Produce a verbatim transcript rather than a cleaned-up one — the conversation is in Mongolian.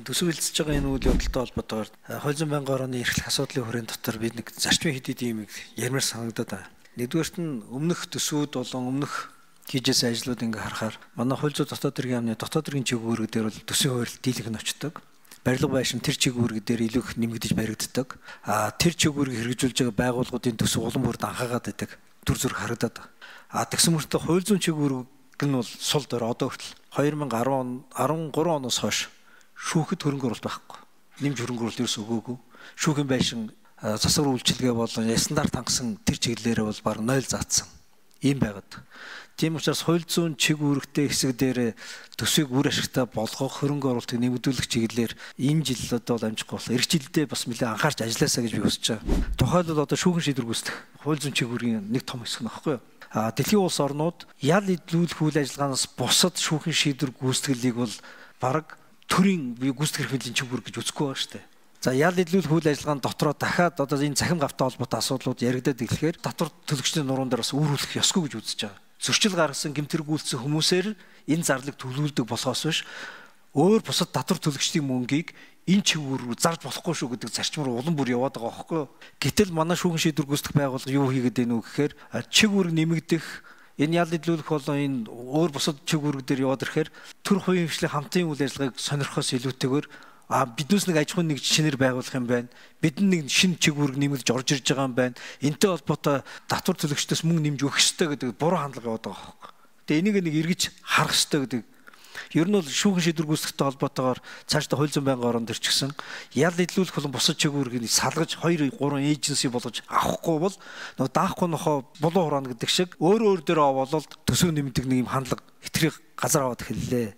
Төсөөлж байгаа энэ үйл явдалтай холбоотойгоор хууль зүйн байнгын орооны эрхлэх асуудлын хүрээнд дотор бид нэг зарчмын хэд хэдийн юм ярмаар санагдаад байна. Нэгдүгээрт нь өмнөх төсвүүд болон өмнөх хийжсэн ажлууд ингээ харахаар манай хууль зүйн дотоод хэргийн яамны дотоод хэргийн чиглэлүүд дээр бол төсвийн хууль дийлэх нь очдог. Барилга байшин тэр чиглэлүүд дээр илүү их нэмэгдэж баригддаг. А тэр чиглэлийг хэрэгжүүлж байгаа байгууллагуудын төсөв улам бүрд анхаагаад байдаг. Түр зүрх харагдаад. А тэгсэн мөртөө хууль зүйн чиглэл нь бол сул дээр одоо хүртэл две тысячи десять он оноос хойш шүүхэд хөрөнгө оруулалт байхгүй. Нэмж хөрөнгө оруулалт ерөөс өгөөгүй. Шүүхийн байшин засвар үйлчилгээ болон стандарт хангасан тэр чиглэлээрээ бол баг нуль заасан. Ийм байгаад. Тийм учраас хууль зүйн чиг үүрэгтэй хэсэг дээр төсвийг үр ашигтай болгох хөрөнгө оруулалтыг нэмэгдүүлэх чиглэлээр энэ жил одоо амжихгүй боллоо. Эх жилдээ бас нэлээд анхаарч ажилласаа гэж би хүсэж байгаа. Тухайлбал одоо шүүхэн шийдвэр гүйцэтгэх хууль зүйн чиг үүргийн нэг том хэсэг нөхгүй юу? А дэлхийн улс орнууд ял идлүүлэх үйл ажиллагаанаас бусад шүүхэн шийдвэр гүйцэтгэлийг бол бараг төрийн гүйцэтгэх хэрэглийн чиг үүрэг гэж үзэхгүй байна шүү дээ. За ял идлүүлэх үйл ажиллагааны дотроо дахиад одоо энэ цахим гавтай холбоотой асуудлууд яригдаад ирэхээр татвар төлөгчдийн нуруунд дээр бас үүрүүлэх ёсгүй гэж үзэж байгаа. Зөрчил гаргасан гэмтэргүүлсэн хүмүүсээр энэ зарлыг төлөвлөдөг болохоос биш өөр бусад татвар төлөгчдийн мөнгийг энэ чиг үүрэг зарж болохгүй шүү гэдэг зарчим руу улам бүр яваад байгаа байхгүй юу? Гэтэл манай шүүхэн шийдвэр гүйцэтгэх байгууллага юу хийгээд байна вэ гэхээр чиг үүрэг нэмэгдэх энэ ял идлүүлэх болон энэ өөр бусад чиг үүрэг дээр яваад ирэхээр төр хувийн хвшлийн хамтын үйл ажиллагааг сонирхохоос илүүтэйгээр а биднээс нэг аж ахуйн нэг шинээр байгуулах юм байна. Бид нэг шинэ чиг үүрэг нэмэгдэж орж ирж байгаа юм байна. Энтэй холбоотой татвар төлөгчдөөс мөнгө нэмж өгөх ёстой гэдэг буруу хандлага яваад байгаа байхгүй. Тэгээ энийг нэг эргэж харах ёстой гэдэг. Ер нь бол шүүхэн шийдвэр гүйцэтгэхтэй холбоотойгоор цаашдаа хууль зүйн байнгын ороонд ирчихсэн. Ял идлүүлэх болон бусад чиг үүргийг салгаж хоёр гурван эйженси болгож авахгүй бол нөгөө даахгүй нохоо булуу хураана гэдэг шиг өөр өөр дээрээ болол төсөв нэмдэг нэг юм хандлага хитрхи газар аваад эхэллээ.